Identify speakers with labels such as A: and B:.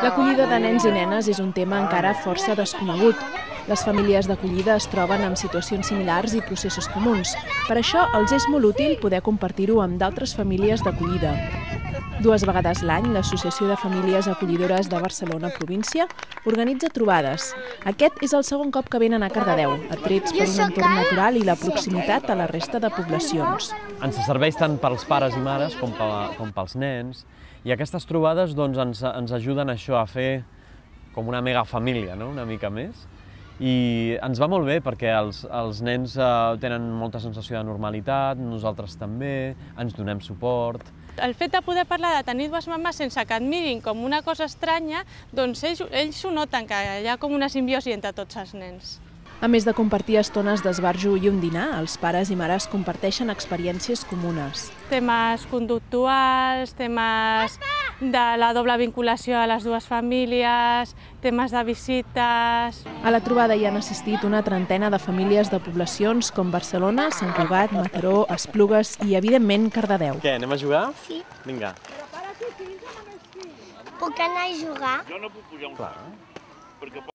A: L'acollida de nens i nenes és un tema encara força desconegut. Les famílies d'acollida es troben amb situacions similars i processos comuns. Per això els és molt útil poder compartir-ho amb d'altres famílies d'acollida. 2 vegades l'any, l'Associació de Famílies Acollidores de Barcelona Província organitza trobades. Aquest és el segon cop que venen a Cardedeu, atrets per un entorn natural i la proximitat a la resta de poblacions.
B: Ens serveix tant pels pares i mares com pels nens, i aquestes trobades ens ajuden a fer com una megafamília, una mica més. I ens va molt bé perquè els nens tenen molta sensació de normalitat, nosaltres també, ens donem suport.
C: El fet de poder parlar de tenir 2 mamàs sense que et mirin com una cosa estranya, doncs ells ho noten, que hi ha com una simbiosi entre tots els nens.
A: A més de compartir estones d'esbarjo i un dinar, els pares i mares comparteixen experiències comunes.
C: Temes conductuals, temes de la doble vinculació a les 2 famílies, temes de visites.
A: A la trobada hi han assistit una trentena de famílies de poblacions com Barcelona, Sant Cugat, Mataró, Esplugues i, evidentment, Cardedeu.
B: Què, anem a jugar?
D: Sí.
B: Vinga.
D: Puc anar a jugar?
E: Jo no puc pujar un clar.